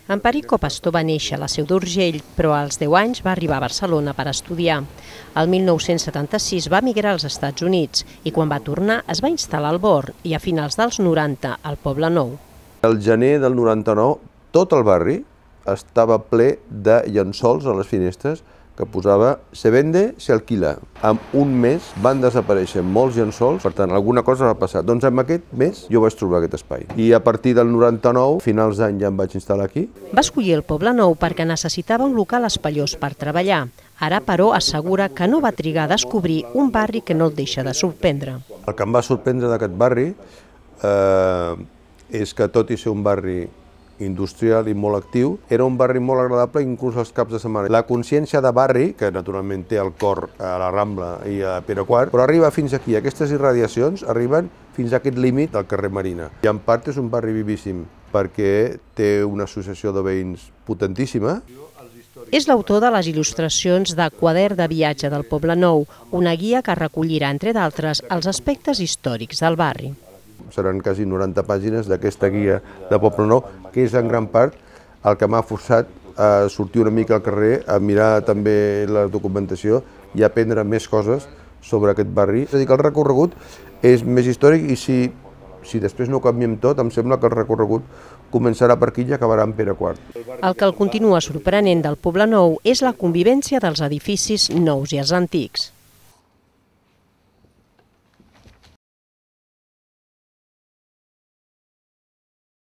Emperico Pastor va néixer a la Seu d'Urgell, però als 10 anys va arribar a Barcelona per estudiar. El 1976 va emigrar als Estats Units i quan va tornar es va instal·lar al Born i a finals dels 90 al Poble Nou. El gener del 99 tot el barri estava ple de llençols a les finestres que posava "se vende, se alquila". En un mes van desaparèixer molts llençols, per tant, alguna cosa va passar. Doncs en aquest mes jo vaig trobar aquest espai. I a partir del 99, finals d'any, ja em vaig instal·lar aquí. Va escollir el Poble Nou perquè necessitava un local espaiós per treballar. Ara, però, assegura que no va trigar a descobrir un barri que no el deixa de sorprendre. El que em va sorprendre d'aquest barri és que, tot i ser un barri industrial i molt actiu, era un barri molt agradable inclús els caps de setmana. La consciència de barri, que naturalment té el cor a la Rambla i a Pere IV, però arriba fins aquí. Aquestes irradiacions arriben fins a aquest límit del carrer Marina. I en part és un barri vivíssim perquè té una associació de veïns potentíssima. És l'autor de les il·lustracions de Quadern de viatge del Poble Nou, una guia que recollirà, entre d'altres, els aspectes històrics del barri. Seran quasi 90 pàgines d'aquesta guia de Poble Nou, que és en gran part el que m'ha forçat a sortir una mica al carrer, a mirar també la documentació i a aprendre més coses sobre aquest barri. És a dir, que el recorregut és més històric i si després no ho canviem tot, em sembla que el recorregut començarà per aquí i acabarà en Pere IV. El que el continua sorprenent del Poble Nou és la convivència dels edificis nous i els antics.